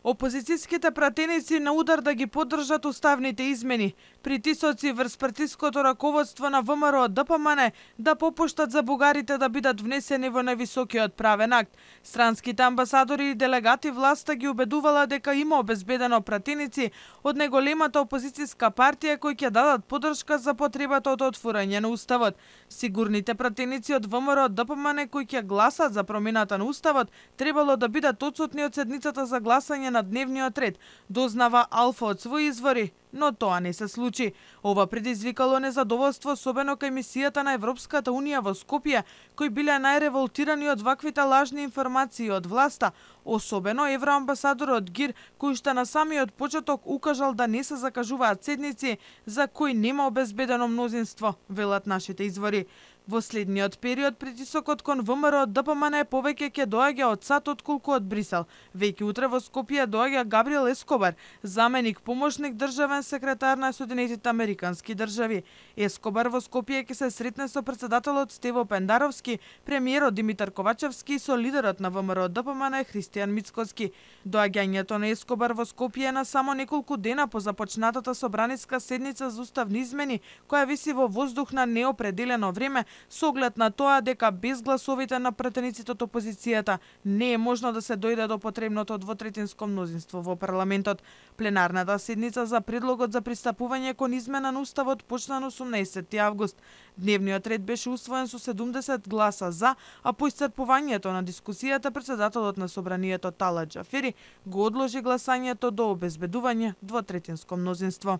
Опозицијските пратеници на удар да ги поддржат уставните измени, притисоци врз партиското раководство на ВМРО ДПМН да попуштат за бугарите да бидат внесени во највисокиот правен акт. Странските амбасадори и делегати власта ги убедувала дека има обезбедено пратеници од најголемата опозицијска партија кои ќе дадат поддршка за потребата од отворање на уставот. Сигурните пратеници од ВМРО ДПМН кои ќе гласат за промената на уставот требало да бидат отсутни од седницата за гласање на дневниот ред, дознава Алфа од своји извори, но тоа не се случи. Ова предизвикало незадоволство особено кај мисијата на Европската Унија во Скопје, кои биле најреволтирани од ваквите лажни информации од власта, особено евроамбасадорот Гир, кој уште на самиот почеток укажал да не се закажуваат седници за кои нема обезбедено мнозинство, велат нашите извори. Во следниот период притисокот кон ВМРО ДПМН повеќе ќе доаѓа од САД отколку од Брисел. Веќе утре во Скопје доаѓа Габриел Ескобар, заменик помошник државен секретар на Соединетите Американски држави. Ескобар во Скопје ќе се сретне со претседателот Стево Пендаровски, премиерот Димитар Ковачевски и со лидерот на ВМРО ДПМН Христијан Мицкоски. Доаѓањето на Ескобар во Скопје е на само неколку дена по започнатата собраниска седница за уставни измени, која виси во воздух на неопределено време, со оглед на тоа дека без гласовите на пратениците од опозицијата не е можно да се дојде до потребното двотретинско мнозинство во парламентот. Пленарната седница за предлогот за пристапување кон измена на уставот почна на 18 август. Дневниот ред беше усвоен со 70 гласа за, а по исцрпувањето на дискусијата претседателот на собранието Талат Џафери го одложи гласањето до обезбедување двотретинско мнозинство.